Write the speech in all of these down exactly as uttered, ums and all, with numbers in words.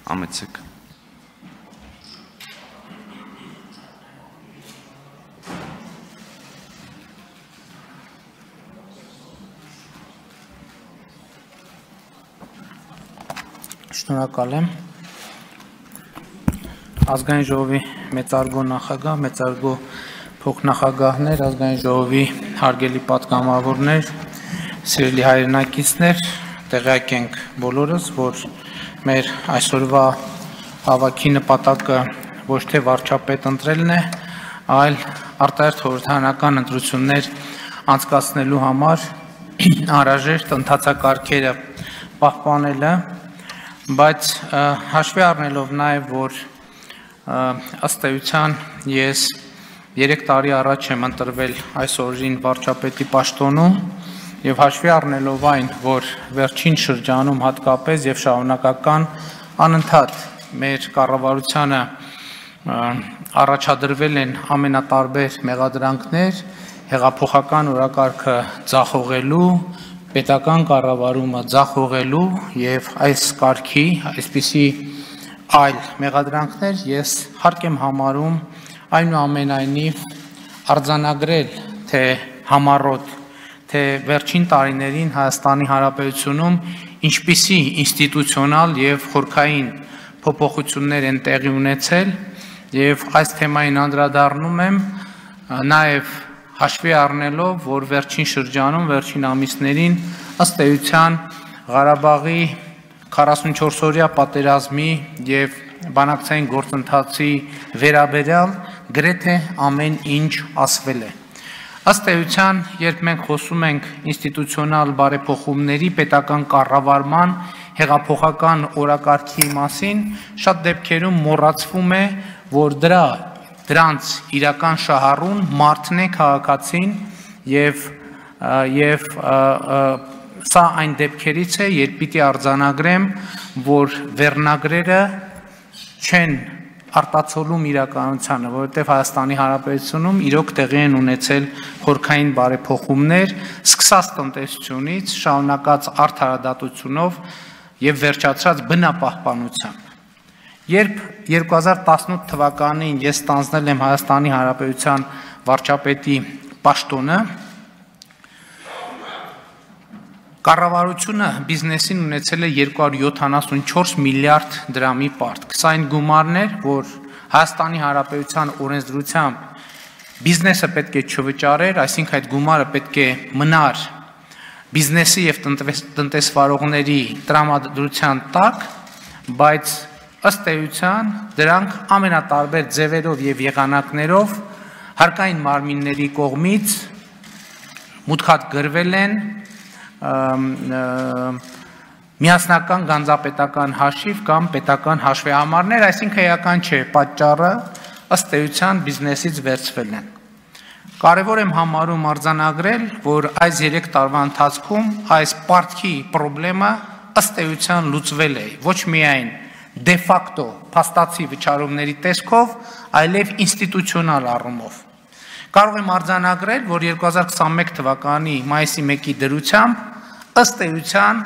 Համեցեք։ Շնորհակալ եմ։ Ազգային ժողովի մեծարգո նախագահ, մեծարգո փոխնախագահներ, ազգային ժողովի հարգելի պատգամավորներ, սիրելի հայրենակիցներ, տեղյակ ենք բոլորս, որ մեր այսօրվա հավաքի նպատակը ոչ թե վարչապետ ընտրելն է, այլ արտահերթ խորհրդարանական ընտրություններ անցկացնելու համար անհրաժեշտ ընթացակարգերը պահպանելը, բայց հաշվի առնելով նաև, որ ըստ էության ես երեք տարի առաջ եմ ընտրվել այս օրին վարչապետի պաշտոնում եւ հաշվի առնելով այն, որ վերջին շրջանում հատկապես եւ շարունակական անընդհատ մեր կառավարությանը առաջադրվել են ամենատարբեր մեղադրանքներ, հեղափոխական օրակարգը ձախողելու, պետական կառավարումը ձախողելու եւ այս կարգի, այսպիսի այլ մեղադրանքներ ես հարկ եմ համարում այնուամենայնիվ արձանագրել, թե համառոտ, թե վերջին տարիներին Հայաստանի Հանրապետությունում ինչպիսի ինստիտուցիոնալ եւ խորքային փոփոխություններ են տեղի ունեցել եւ այս թեմային անդրադառնում եմ նաեւ հաշվի առնելով, որ վերջին շրջանում, վերջին ամիսներին ըստ էության Ղարաբաղի քառասունչորս-օրյա պատերազմի եւ բանակցային գործընթացի վերաբերյալ գրեթե ամեն ինչ ասվել է։ Ըստ էության, երբ մենք խոսում ենք ինստիտուցիոնալ բարեփոխումների, պետական կառավարման, հեղափոխական օրակարգի մասին, շատ դեպքերում մոռացվում է, որ դրա դրանց իրական շահառուն մարդն է, քաղաքացին եւ եւ սա այն դեպքերից է, երբ պիտի արձանագրեմ, որ վերնագրերը չեն արտացոլում իրականությանը, որովհետև Հայաստանի Հանրապետությունում իրոք տեղի են ունեցել խորքային բարեփոխումներ, սկսած տնտեսությունից, շարունակած արդարադատությունով եւ վերջացած բնապահպանությամբ։ Երբ երկու հազար տասնութ թվականին ես ստանձնել եմ Հայաստանի Հանրապետության վարչապետի պաշտոնը, կառավարությունը բիզնեսին ունեցել է երկու հարյուր յոթանասունչորս միլիարդ դրամի պարտք։ Սա այն գումարներ, որ Հայաստանի Հանրապետության օրենսդրությամբ բիզնեսը պետք է չվճարեր, այսինքն այդ գումարը պետք է մնար բիզնեսի եւ տնտեսվարողների տրամադրության տակ, բայց ըստ էության դրանք ամենատարբեր ձևերով եւ եղանակներով հարկային մարմինների կողմից մուտքած գրվել են միասնական գանձապետական հաշիվ կամ պետական հաշվեհամարներ, այսինքն էական չէ, պատճառը ըստ էության բիզնեսից վերցվել են։ Կարևոր եմ համարում արձանագրել, որ այս երեք տարվա ընթացքում այս պարտքի խնդրումը ըստ էության լուծվել է, ոչ միայն դե ֆակտո փաստացի վճարումների տեսքով, այլև ինստիտուցիոնալ առումով։ Կարող եմ արձանագրել, որ երկու հազար քսանմեկ թվականի մայիսի մեկի դրությամբ ըստ էության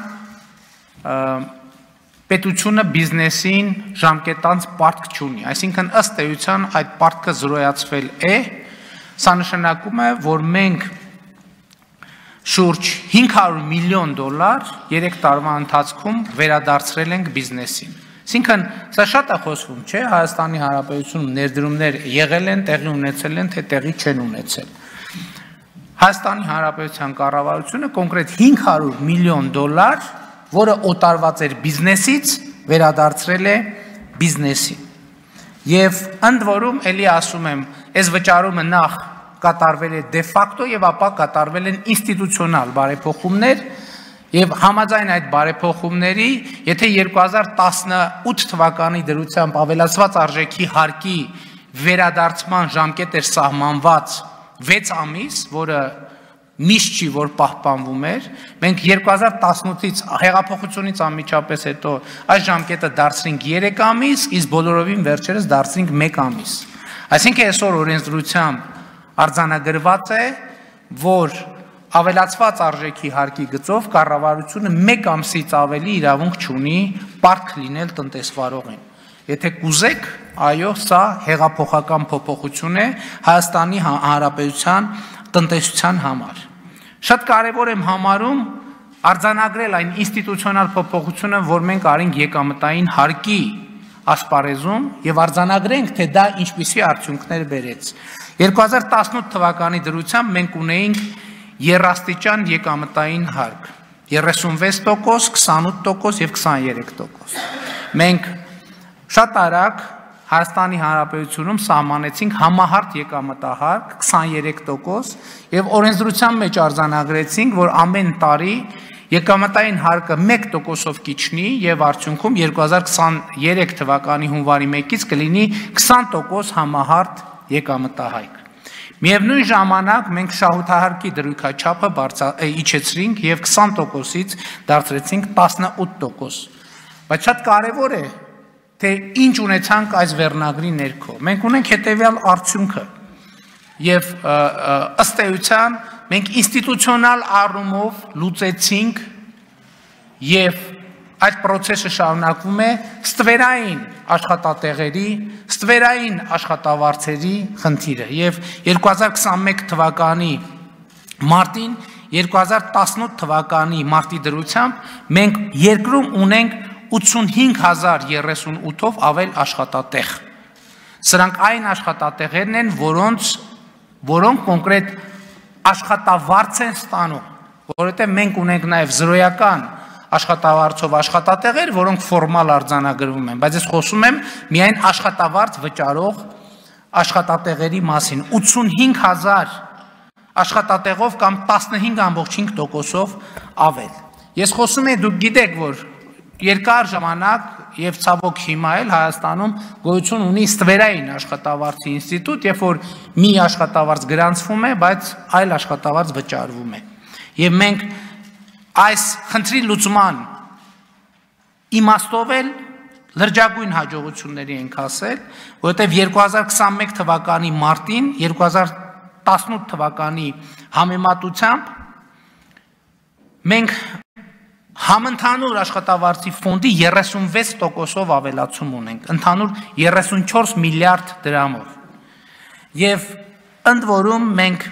պետությունը բիզնեսին ժամկետանց պարտք չունի, այսինքն ըստ էության այդ պարտքը զրոյացվել է, սա նշանակում է, որ մենք շուրջ հինգ հարյուր միլիոն դոլար երեք տարվա ընթացքում վերադարձրել ենք բիզնեսին։ Այսինքն, սա շատ է խոսվում, չէ, Հայաստանի Հանրապետությունում ներդրումներ եղել են, տեղի ունեցել են, թե տեղի չեն ունեցել։ Հայաստանի Հանրապետության կառավարությունը կոնկրետ հինգ հարյուր միլիոն դոլար, որը օտարված էր բիզնեսից, վերադարձրել է բիզնեսին։ Եվ ընդ որում, էլի ասում եմ, այս վճարումը նախ կատարվել է դե ֆակտո եւ ապա կատարվել են ինստիտուցիոնալ բարեփոխումներ եւ համաձայն այդ բարեփոխումների, եթե երկու հազար տասնութ թվականի դրությամբ ավելացված արժեքի հարկի վերադարձման ժամկետ էր սահմանված վեց ամիս, որը միշտ չի, որ պահպանվում էր, մենք երկու հազար տասնութից հեղափոխությունից անմիջապես հետո այս ժամկետը դարձրինք երեք ամիս, իսկ բոլորովին վերջերս դարձրինք մեկ ամիս։ Այսինքն այսօր օրենսդրությամբ արձանագրված է, որ ավելացված արժեքի հարկի գծով կառավարությունը մեկ ամսից ավելի իրավունք չունի պարտք լինել տնտեսվարողին։ Եթե կուզեք, այո, սա հեղափոխական փոփոխություն է Հայաստանի Հանրապետության տնտեսության համար։ Շատ կարևոր եմ համարում արձանագրել այն ինստիտուցիոնալ փոփոխությունը, որ մենք արինք եկամտային հարկի ասպարեզում եւ արձանագրենք, թե դա ինչպիսի արդյունքներ բերեց։ երկու հազար տասնութ թվականի դրությամբ մենք ունեինք երաստիճան եկամտային հարկ, երեսունվեց տոկոս, քսանութ տոկոս եւ քսաներեք տոկոս։ Մենք շատ արագ Հայաստանի Հանրապետությունում սահմանեցինք համահարթ եկամտահարկ քսաներեք տոկոս եւ օրենսդրության մեջ արձանագրեցինք, որ ամեն տարի եկամտային հարկը մեկ տոկոսով կիջնի եւ արդյունքում երկու հազար քսաներեք թվականի հունվարի մեկից կլինի քսան տոկոս համահարթ եկամտահարկ։ Միևնույն ժամանակ մենք շահութահարկի դրույքաչափը իջեցրինք եւ քսան տոկոսից դարձրեցինք տասնութ տոկոս։ Բայց շատ կարեւոր է, թե ինչ ունեցանք այս վերնագրի ներքո։ Մենք ունենք հետեւյալ արդյունքը եւ ըստ էության մենք ինստիտուցիոնալ առումով լուծեցինք եւ այդ process-ը շարունակվում է ստվերային աշխատատեղերի, ստվերային աշխատավարձերի խնդիրը եւ երկու հազար քսանմեկ թվականի մարտին, երկու հազար տասնութ թվականի մարտի դրությամբ մենք երկրում ունենք ութսունհինգ հազար երեսունութով ավել աշխատատեղ։ Սրանք այն աշխատատեղերն են, որոնց որոնք կոնկրետ աշխատավարձ են ստանում, որովհետեւ մենք ունենք նաեւ զրոյական աշխատավարձով աշխատատեղեր, որոնք ֆորմալ արձանագրվում են, բայց ես խոսում եմ միայն աշխատավարձ վճարող աշխատատեղերի մասին, ութսունհինգ հազար աշխատատեղով կամ տասնհինգ ամբողջ հինգ տոկոսով ավել։ Ես խոսում եմ, դուք գիտեք, որ երկար ժամանակ եւ ցավոք հիմա էլ Հայաստանում գոյություն ունի ստվերային աշխատավարձի ինստիտուտ, երբ որ մի աշխատավարձ գրանցվում է, բայց այլ աշխատավարձ վճարվում է։ Եվ մենք այս խնդրի լուծման իմաստով էլ լրջագույն հաջողությունների ենք հասել, որովհետև երկու հազար քսանմեկ թվականի մարտին, երկու հազար տասնութ թվականի համեմատությամբ մենք համընդհանուր աշխատավարձի ֆոնդի երեսունվեց տոկոսով ավելացում ունենք, ընդհանուր երեսունչորս միլիարդ դրամով։ Եվ ընդ որում մենք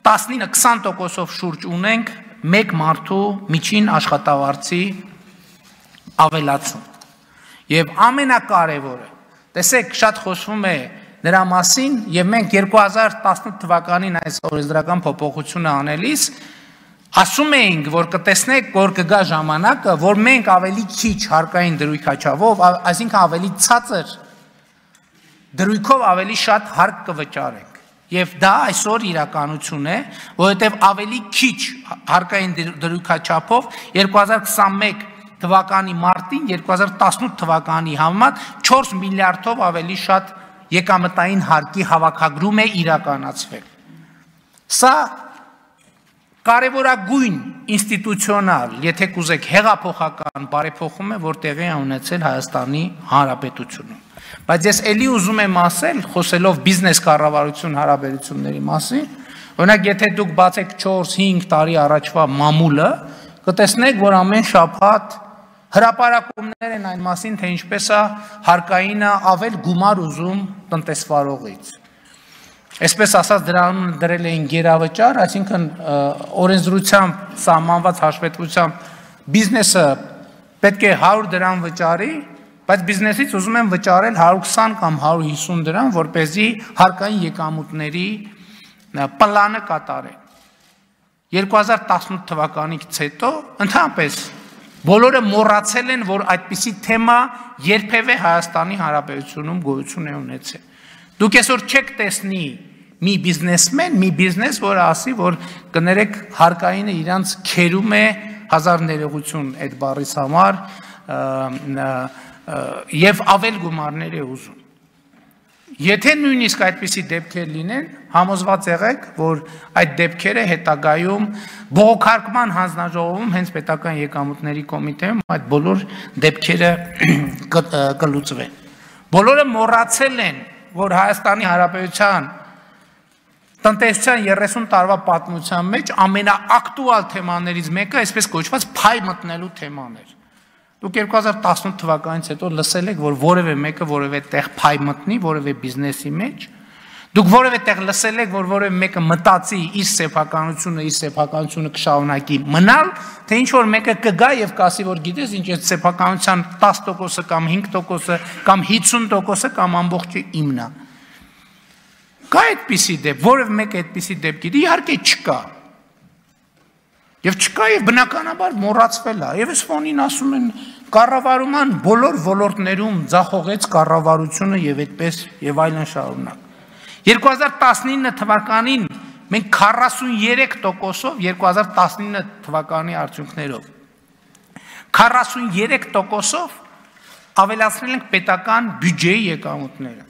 տասնինը քսան տոկոսով շուրջ ունենք մեկ մարդու միջին աշխատավարձի ավելացում։ Եվ ամենակարևորը, տեսեք, շատ խոսվում է նրա մասին, եւ մենք երկու հազար տասնութ թվականին այս օրենսդրական փոփոխությունը անելիս ասում էինք, որ կտեսնեք, որ կգա ժամանակը, որ մենք ավելի քիչ հարկային դրույքաչափով, այսինքն ավելի ցածր դրույքով ավելի շատ հարկ կվճարենք։ Եվ դա այսօր իրականություն է, որովհետև ավելի քիչ հարկային դրույքաչափով երկու հազար քսանմեկ թվականի մարտին, երկու հազար տասնութ թվականի համեմատ չորս միլիարդով ավելի շատ եկամտային հարկի հավաքագրում է իրականացվել։ Սա կարևորագույն ինստիտուցիոնալ, եթե կուզեք հեղափոխական բարեփոխում է, որ տեղի է ունեցել Հայաստանի Հանրապետությունում։ Բայց ես էլի ուզում եմ ասել, խոսելով բիզնես կառավարություն հարաբերությունների մասին, օրինակ եթե դուք բացեք չորս-հինգ տարի առաջվա մամուլը, կտեսնեք, որ ամեն շաբաթ հրապարակումներ են այն մասին, թե ինչպես է հարկայինը ավել գումար ուզում տնտեսվարողից։ Այսպես ասած դրանում դրել էին գերավճար, այսինքն օրենսդրությամբ սահմանված հաշվետվությամբ բիզնեսը պետք է հարյուր դրամ վճարի, բայց բիզնեսից ուզում են վճարել հարյուր քսան կամ հարյուր հիսուն դրամ, որպեսզի հարկային եկամուտների պլանը կատարեն։ երկու հազար տասնութ թվականից հետո ընդհանրապես բոլորը մոռացել են, որ այդպիսի թեմա երբևէ Հայաստանի Հանրապետությունում գոյություն է ունեցել։ Դուք այսօր չեք տեսնի մի բիզնեսմեն, մի բիզնես, որը ասի, որ կներեք հարկայինը իրանց քերում է հազար ներողություն այդ բառից համար եւ ավել գումարներ է ուզում։ Եթե նույնիսկ այդպիսի դեպքեր լինեն, համոզված եղեք, որ այդ դեպքերը հետագայում բողոքարկման հանձնաժողովում հենց պետական եկամուտների կոմիտեում այդ բոլոր դեպքերը կլուծվեն։ Բոլորը մոռացել են, որ Հայաստանի Հանրապետության տնտեսության երեսուն տարվա պատմության մեջ ամենաակտուալ թեմաներից մեկը այսպես կոչված փայ մտնելու թեման էր։ Դուք երկու հազար տասնութ թվականից հետո լսել եք, որ որևէ մեկը որևէ տեղ փայ մտնի, որևէ բիզնեսի մեջ։ Դուք որևէ տեղ լսել եք, որ որևէ մեկը մտածի իր սեփականությունը, իր սեփականությունը կշարունակի մնալ, թե ինչ որ մեկը կգա եւ կասի, որ գիտես, ինչ է սեփականության տասը տոկոսը կամ հինգ տոկոսը կամ հինգսուն տոկոսը կամ ամբողջը իմն է։ Կա այդպիսի դեպք, որևէ մեկը այդպիսի դեպք գիտի, իհարկե չկա։ Եվ չկա եւ բնականաբար մոռացվել է։ Եվ այս ֆոնին ասում են կառավարման բոլոր ոլորտներում ձախողեց կառավարությունը եւ այդպես եւ այլն շարունակ։ երկու հազար տասնինը թվականին մենք քառասուններեք տոկոսով երկու հազար տասնինը թվականի արդյունքներով քառասուններեք տոկոսով ավելացրել ենք պետական բյուջեի եկամուտները։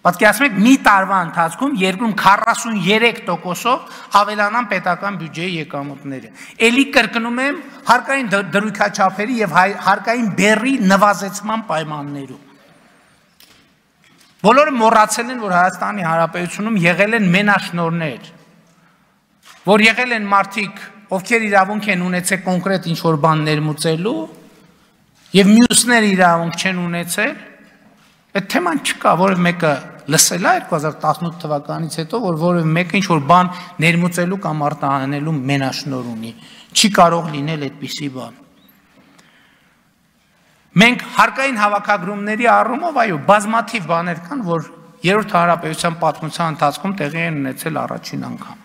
Պատկերացնում եք մի տարվա ընթացքում երկրում քառասուններեք տոկոսով ավելանան պետական բյուջեի եկամուտները։ Էլի կրկնում եմ հարկային դրույքաչափերի եւ հարկային բեռի նվազեցման պայմաններում։ Բոլորը մոռացել են, որ Հայաստանի Հանրապետությունում եղել են մենաշնորհներ, որ եղել են մարդիկ, ովքեր իրավունք են ունեցել կոնկրետ ինչ-որ բան ներմուծելու եւ մյուսները իրավունք չեն ունեցել, այդ թեման չկա, որևէ մեկը լսել է երկու հազար տասնութ թվականից հետո, որ որևէ մեկը ինչ-որ բան ներմուծելու կամ արտահանելու մենաշնորհ ունի, չի կարող լինել այդպիսի բան։ Մենք հարկային հավաքագրումների առումով, այո, բազմաթիվ բաներ կան, որ երրորդ հանրապետության պատմության ընթացքում տեղի են ունեցել առաջին անգամ։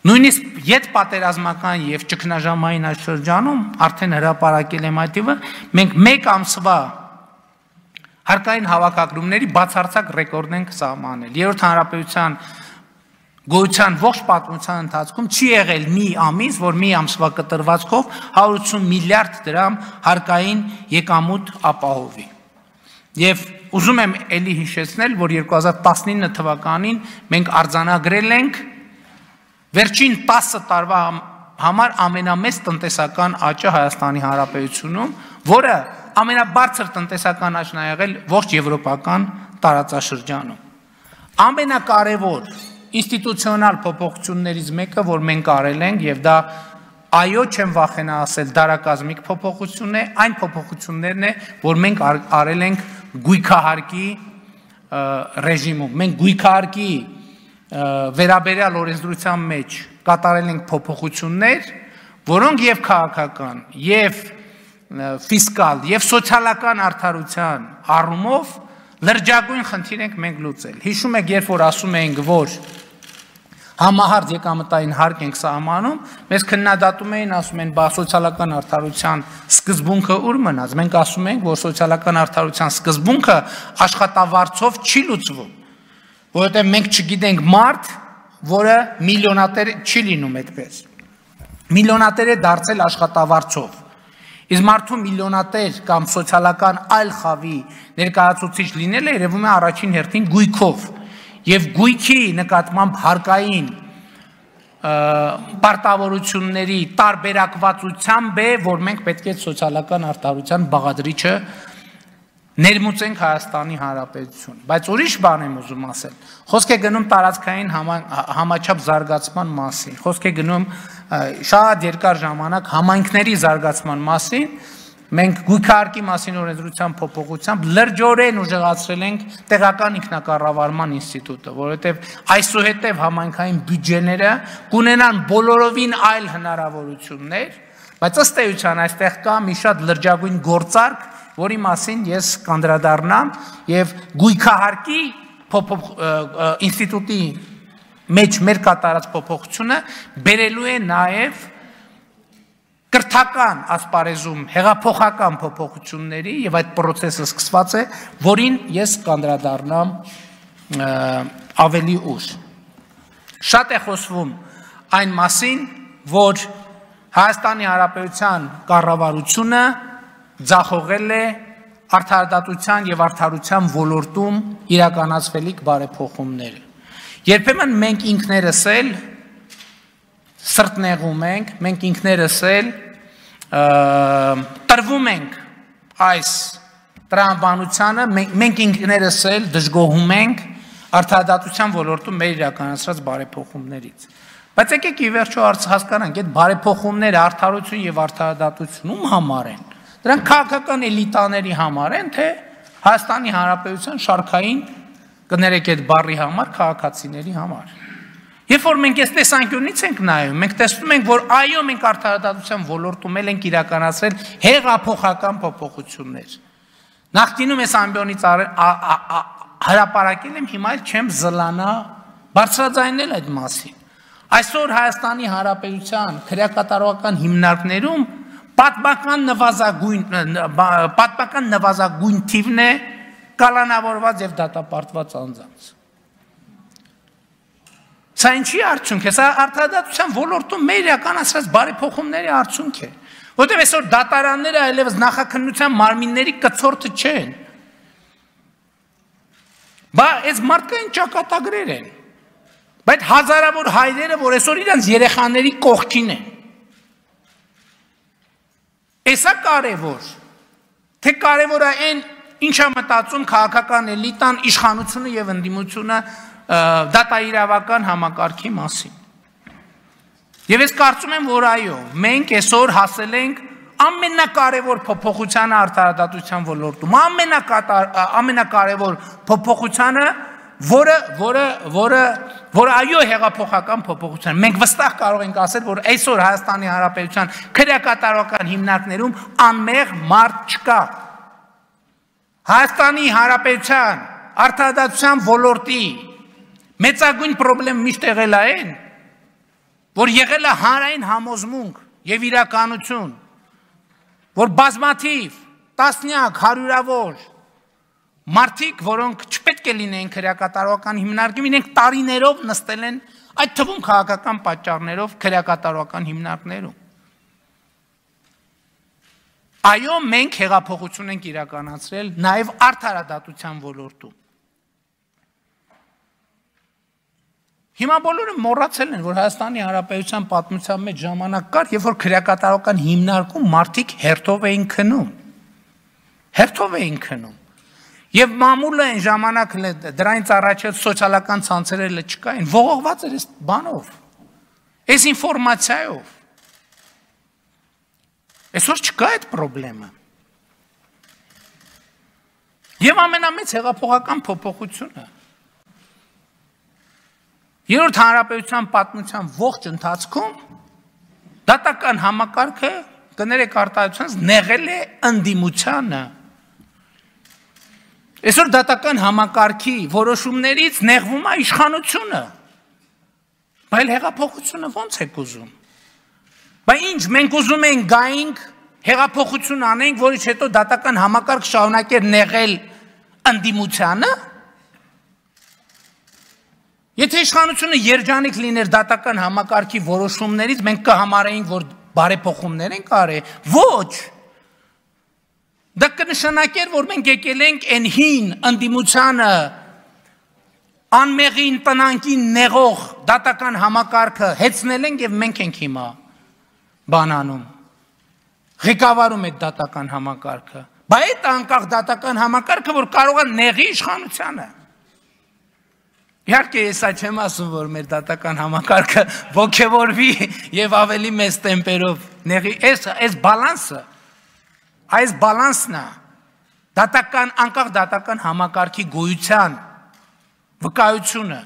Նույնիսկ յետպատերազմական եւ ճգնաժամային այս շրջանում արդեն հրապարակել եմ այդ տիպը, մենք մեկ ամսվա հարկային հավաքագրումների բացարձակ ռեկորդ ենք սահմանել։ Երրորդ հանրապետության գոյության ողջ պատմության ընթացքում չի եղել մի ամիս, որ մի ամսվա կտրվածքով հարյուր ութսուն միլիարդ դրամ հարկային եկամուտ ապահովի։ Եվ ուզում եմ էլի հիշեցնել, որ երկու հազար տասնինը թվականին մենք արձանագրել ենք վերջին տասը տարվա համար ամենամեծ տնտեսական աճը Հայաստանի Հանրապետությունում, որը ամենաբարձր տնտեսական աճն է եղել ողջ եվրոպական տարածաշրջանում։ Ամենակարևոր ինստիտուցիոնալ փոփոխություններից մեկը, որ մենք արել ենք, եւ դա այո չեմ վախենա ասել, դարակազմիկ փոփոխություն է, այն փոփոխություններն է, որ մենք արել ենք գույքահարկի ռեժիմում։ Մենք գույքահարկի վերաբերյալ օրենսդրության մեջ կատարել ենք փոփոխություններ, որոնք եւ քաղաքական, եւ ֆիսկալ, եւ սոցիալական արդարության առումով լրջագույն խնդիր ենք մենք լուծել։ Հիշում եք, երբ որ ասում էինք, որ համահարց եկամտային հարկ ենք սահմանում, մեզ քննադատում էին, ասում են, բա սոցիալական արդարության սկզբունքը ուր մնաց։ Մենք ասում ենք, որ սոցիալական արդարության սկզբունքը աշխատավարձով չի լուծվում, որովհետև մենք չգիտենք մարդ, որը միլիոնատեր չի լինում այդպես։ Միլիոնատեր է դարձել աշխատավարձով։ Իսկ մարդու միլիոնատեր կամ սոցիալական այլ խավի ներկայացուցիչ լինելը երևում է առաջին հերթին գույքով եւ գույքի նկատմամբ հարկային պարտավորությունների տարբերակվածությամբ է, որ մենք պետք է սոցիալական արդարության բաղադրիչը ներմուծենք Հայաստանի Հանրապետություն։ Բայց ուրիշ բան եմ ուզում ասել։ Խոսք է գնում տարածքային համաչափ զարգացման մասին, խոսք է գնում շատ երկար ժամանակ համայնքների զարգացման մասին, մենք գույքահարկի մասին օրենսդրության փոփոխությամբ լրջորեն ուժեղացրել ենք տեղական ինքնակառավարման ինստիտուտը, որովհետև այսուհետև համայնքային բյուջեները կունենան բոլորովին այլ հնարավորություններ, բայց ըստ էության այստեղ կա մի շատ լրջագույն գործարք, որի մասին ես կանդրադառնամ եւ գույքահարկի ինստիտուտի մեջ մեր կատարած փոփոխությունը բերելու է նաեւ կրթական ասպարեզում հեղափոխական փոփոխությունների եւ այդ process-ը սկսված է, որին ես կանդրադառնամ ավելի ուշ։ Շատ է խոսվում այն մասին, որ Հայաստանի Հանրապետության կառավարությունը ձախողել է արդարադատության եւ արդարության ոլորտում իրականացվելիք բարեփոխումները։ Երբեմն մենք ինքներս էլ սրտնեղում ենք, մենք ինքներս էլ տրվում ենք այս տրամաբանությանը, մենք ինքներս էլ դժգոհում ենք արդարադատության ոլորտում մեր իրականացրած բարեփոխումներից։ Բայց եկեք ի վերջո հասկանանք, այդ բարեփոխումները արդարություն եւ արդարադատություն ում համար են։ Դրանք քաղաքական էլիտաների համար են, թե Հայաստանի Հանրապետության շարքային կներեք այդ բառի համար քաղաքացիների համար։ Երբ որ մենք այս տեսանկյունից ենք նայում, մենք տեսնում ենք, որ այո, մենք արդարադատության ոլորտում ենք իրականացրել հեղափոխական փոփոխություններ։ Նախկինում այս ամբիոնից հրապարակել եմ, հիմա էլ չեմ զլանա բարձրաձայնել այդ մասին։ Այսօր Հայաստանի Հանրապետության քրեակատարողական հիմնարկներում պատմական նվազագույն պատմական նվազագույն թիվն է կալանավորված եւ դատապարտված անձանց։ Սա ինչի արդյունք է, սա արդարադատության ոլորտում մեր իրականացրած բարեփոխումների արդյունք է, որտեղ այսօր դատարանները այլևս նախաքննության մարմինների կցորդը չեն։ Բա այս մարդկային ճակատագրեր են, բայց հազարավոր հայրերը, որ այսօր իրենց երեխաների կողքին են։ Էսա կարևոր, թե կարևոր է այն ինչա մտածում քաղաքական էլիտան, իշխանությունը եւ ընդդիմությունը դատաիրավական համակարգի մասին։ Եվ ես կարծում եմ, որ այո, մենք այսօր հասել ենք ամենակարևոր փոփոխությանը արդարադատության ոլորտում, ամենակարևոր փոփոխությանը, որը, որը, որը, որը այո հեղափոխական փոփոխության։ Մենք վստահ կարող ենք ասել, որ այսօր Հայաստանի Հանրապետության քրեակատարողական հիմնարկներում անմեղ մարդ չկա։ Հայաստանի Հանրապետության արդարադատության ոլորտի մեծագույն պրոբլեմ միշտ եղել է այն, որ եղել է հանրային համոզմունք եւ իրականություն, որ բազմաթիվ, տասնյակ, հարյուրավոր մարդիկ, որոնք չպետք է լինեին քրեակատարողական հիմնարկում, իրենք տարիներով նստել են այդ թվում քաղաքական պատճառներով քրեակատարողական հիմնարկներում։ Այո, մենք հեղափոխություն ենք իրականացրել նաեւ արդարադատության ոլորտում։ Հիմա բոլորը մոռացել են, որ Հայաստանի Հանրապետության պատմության մեջ ժամանակ կար, երբ որ քրեակատարողական հիմնարկում մարդիկ հերթով էին քնում։ Հերթով էին քնում։ Եվ մամուլը այն ժամանակ դրանից առաջ սոցիալական ցանցերը չկային, ողողված էր այս բանով, այս ինֆորմացիայով։ Այսօր չկա այդ խնդրը։ Եվ ամենամեծ հեղափոխական փոփոխությունը Երրորդ հանրապետության պատմության ողջ ընթացքում դատական համակարգը կներեք արտահայտությունից նեղել է ընդդիմությանը։ Այսօր դատական համակարգի որոշումներից նեղվում է իշխանությունը։ Բայց հեղափոխությունը ո՞նց է ուզում։ Բայց ինչ մենք ուզում ենք գայինք հեղափոխություն անենք, որից հետո դատական համակարգ շարունակեր նեղել ընդդիմությանը։ Եթե իշխանությունը երջանիկ լիներ դատական համակարգի որոշումներից, մենք կհամարեինք, որ բարեփոխումներ ենք արել, ոչ։ Դա կնշանակեր, որ մենք եկել ենք այն հին ընդդիմությանը անմեղին տնանքին նեղող դատական համակարգը հեծնել ենք եւ մենք ենք հիմա բանանում։ Ղեկավարում է դատական համակարգը։ Բայց այդ անկախ դատական համակարգը, որ կարող է նեղի իշխանությանը։ Իհարկե ես չեմ ասում, որ մեր դատական համակարգը ոգևորվի եւ ավելի մեծ տեմպերով նեղի, այս այս բալանսը, այս բալանսն է դատական անկախ դատական համակարգի գոյության վկայությունը։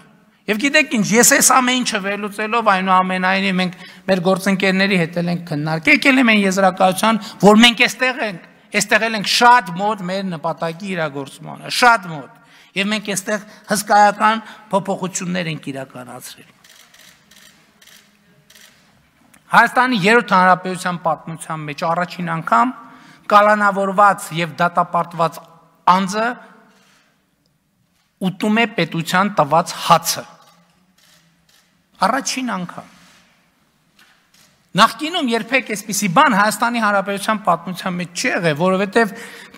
Եվ գիտեք ինչ, ես այս ամեն ինչը վերլուծելով այնուամենայնիվ մենք մեր գործընկերների հետ ենք քննարկել, եկել եմ այն եզրակացության, որ մենք այստեղ ենք, այստեղ ենք շատ մոտ մեր նպատակի իրագործմանը, շատ մոտ։ Եվ մենք այստեղ հսկայական փոփոխություններ ենք իրականացրել։ Հայաստանի երրորդ հանրապետության պատմության մեջ առաջին անգամ կալանավորված եւ դատապարտված անձը ուտում է պետության տված հացը։ Առաջին անգամ։ Նախկինում երբեք այսպիսի բան Հայաստանի Հանրապետության պատմության մեջ չի եղել, որովհետև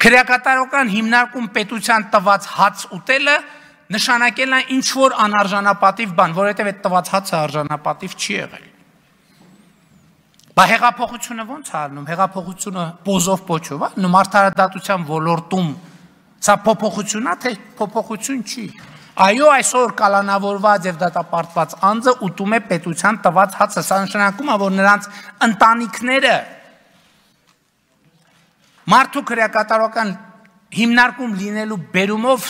քրեակատարողական հիմնարկում պետության տված հաց ուտելը նշանակել է ինչ որ անարժանապատիվ բան, որովհետև այդ տված հացը արժանապատիվ չի եղել։ Բա հեղափոխությունը ո՞նց է ալնում, հեղափոխությունը պոզով պոչով, այլ արդարադատության ոլորտում սա փոփոխություն է, թե փոփոխություն չի։ Այո, այսօր կալանավորված եւ դատապարտված անձը ուտում է պետության տված հացը, սա նշանակում է, որ նրանց ընտանիքները մարդու քրեակատարական հիմնարկում լինելու բերումով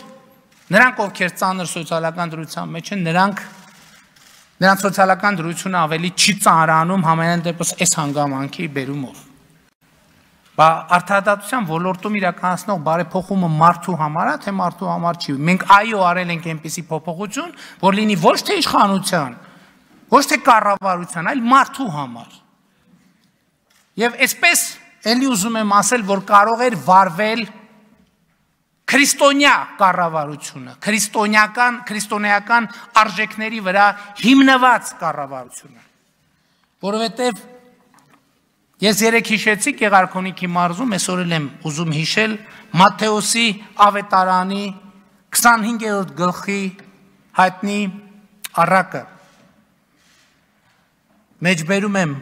նրանք, ովքեր ծանր սոցիալական դրության մեջ են, նրանք նրանց սոցիալական դրությունը ավելի չի ծանրանում համենայն դեպս այս հանգամանքի բերումով։ Բա արդարադատության ոլորտում իրականացնող բարեփոխումը մարդու համար է, թե մարդու համար չի։ Մենք այո արել ենք այնպիսի փոփոխություն, որ լինի ոչ թե իշխանության, ոչ թե կառավարության, այլ մարդու համար։ Եվ այսպես էլի ուզում եմ ասել, որ կարող էր վարվել քրիստոնյա կառավարությունը, քրիստոնեական, քրիստոնեական արժեքների վրա հիմնված կառավարությունը, որովհետև ես երեք հիշեցի Գեղարքունիքի մարզում, այսօր էլ եմ ուզում հիշել Մատթեոսի ավետարանի քսանհինգերորդ գլխի հայտնի առակը։ Մեջբերում եմ,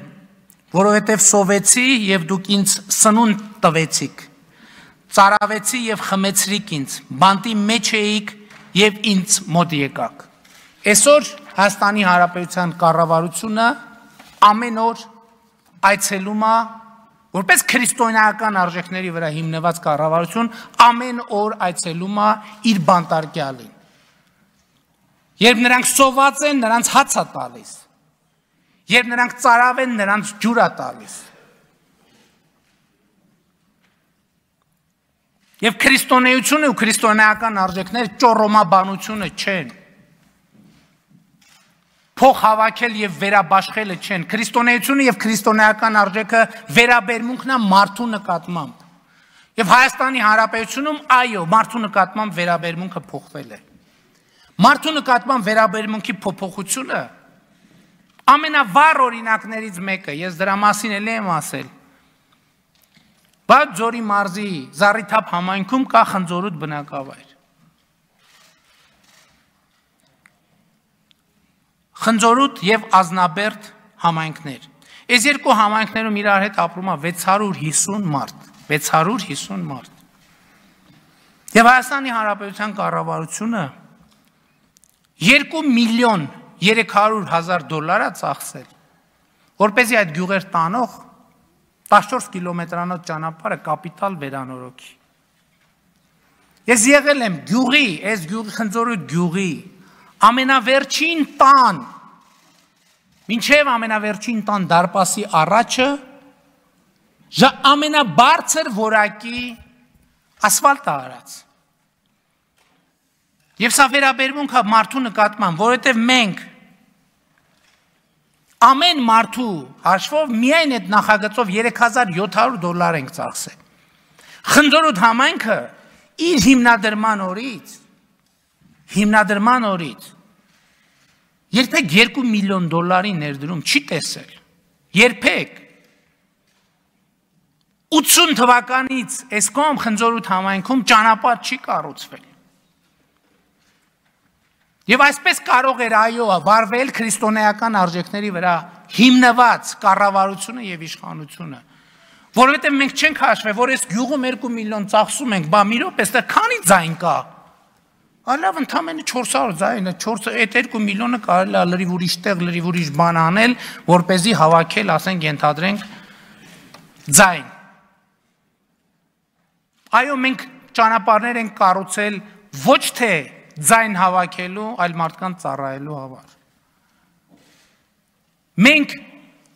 որովհետև սովեցի եւ դուք ինձ սնունդ տվեցիք, ծարավեցի եւ խմեցրիք ինձ, բանտի մեջ էիք եւ ինձ մոտ եկաք։ Այսօր Հայաստանի Հանրապետության կառավարությունը ամեն օր այցելում է, որպես քրիստոնեական արժեքների վրա հիմնված կառավարություն, ամեն օր այցելում է իր բանտարկյալին։ Երբ նրանք սոված են, նրանց հաց է տալիս։ Երբ նրանք ծարավ են, նրանց ջուր է տալիս։ Եվ քրիստոնեությունը ու քրիստոնեական արժեքներ ճոռոմաբանությունը չեն։ Փող հավաքել եւ վերաբաշխելը չեն։ Քրիստոնեությունը եւ քրիստոնեական արժեքը վերաբերմունքն է մարդու նկատմամբ։ Եվ Հայաստանի Հանրապետությունում այո, մարդու նկատմամբ վերաբերմունքը փոխվել է։ Մարդու նկատմամբ վերաբերմունքի փոփոխությունը ամենավառ օրինակներից մեկը, ես դրա մասին էլ եմ ասել։ Բայց Ձորի մարզի Զառիթափ համայնքում կա Խնձորուտ բնակավայր։ Խնձորուտ եւ Ազնաբերդ համայնքներ։ Այս երկու համայնքներում իրար հետ ապրում է վեց հարյուր հիսուն մարդ, վեց հարյուր հիսուն մարդ։ Եվ Հայաստանի Հանրապետության կառավարությունը երկու միլիոն երեք հարյուր հազար դոլար է ծախսել, որպեսզի այդ գյուղեր տանող տասնչորս կիլոմետրանոց ճանապարհը կապիտալ վերանորոգի։ Ես եղել եմ գյուղի, այս գյուղի Խնձորուտ գյուղի ամենավերջին տան, մինչև ամենավերջին տան դարպասի առաջը ամենաբարձր որակի ասֆալտ է արած։ Եվ սա վերաբերմունք է մարդու նկատմամբ, որովհետև մենք ամեն մարդու հաշվով միայն այդ նախագծով երեք հազար յոթ հարյուր դոլար ենք ծախսել։ Խնձորուտ համայնքը իր հիմնադրման օրից, հիմնադրման օրից երբեք երկու միլիոն դոլարի ներդրում չի տեսել։ Երբեք։ ութսուն թվականից այս կողմ Խնձորուտ համայնքում ճանապարհ չի կառուցվել։ Եվ այսպես կարող էր այո վարվել քրիստոնեական արժեքների վրա հիմնված կառավարությունը եւ իշխանությունը, որովհետեւ մենք չենք հաշվել, որ այս գյուղում երկու միլիոն ծախսում ենք, բա մի րոպե, այստեղ քանի ձայն կա։ Ալավ ընդամենը չորս հարյուր ձայն, այդ երկու միլիոնը կարելի է լրիվ ուրիշ տեղ, լրիվ ուրիշ բան անել, որպեսզի հավաքել, ասենք, ենթադրենք ձայն։ Այո, մենք ճանապարհներ ենք կառուցել ոչ թե ձայն հավաքելու, այլ մարդկանց ծառայելու համար։ Մենք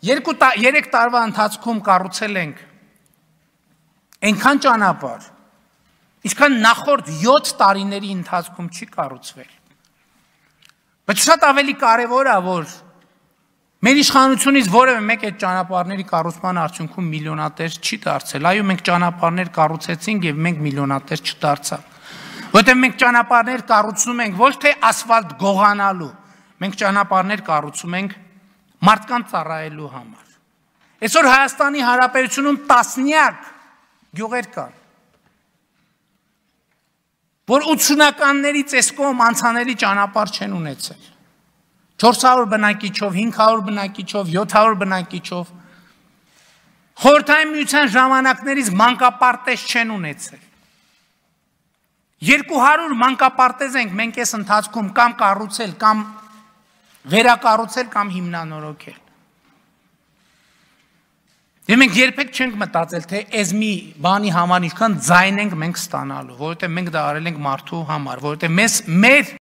երեք տարվա ընթացքում կառուցել ենք այնքան ճանապարհ, ինչքան նախորդ յոթ տարիների ընթացքում չի կառուցվել։ Բայց շատ ավելի կարևոր է, որ մեր իշխանությունից որևէ մեկ այդ ճանապարհների կառուցման արդյունքում միլիոնատեր չի դարձել։ Այո, մենք ճանապարհներ կառուցեցինք եւ մենք միլիոնատեր չդարձանք։ Որտեղ մենք ճանապարհներ կառուցում ենք ոչ թե ասֆալտ գողանալու, մենք ճանապարհներ կառուցում ենք մարդկանց ծառայելու համար։ Այսօր Հայաստանի Հանրապետությունում տասնյակ գյուղեր կան, որ ութսունականներից այս կողմ անցանելի ճանապարհ չեն ունեցել։ չորս հարյուր բնակիչով, հինգ հարյուր բնակիչով, յոթ հարյուր բնակիչով, խորհրդային միության ժամանակներից մանկապարտեզ չեն ունեցել։ երկու հարյուր մանկապարտեզ ենք մենք այս ընթացքում կամ կառուցել, կամ վերակառուցել, կամ հիմնանորոգել։ Եվ մենք երբեք չենք մտածել, թե այս մի բանի համար ինչքան ձայն ենք մենք ստանալու, որովհետև մենք դա արել ենք մարդու համար, որովհետև մեզ մեր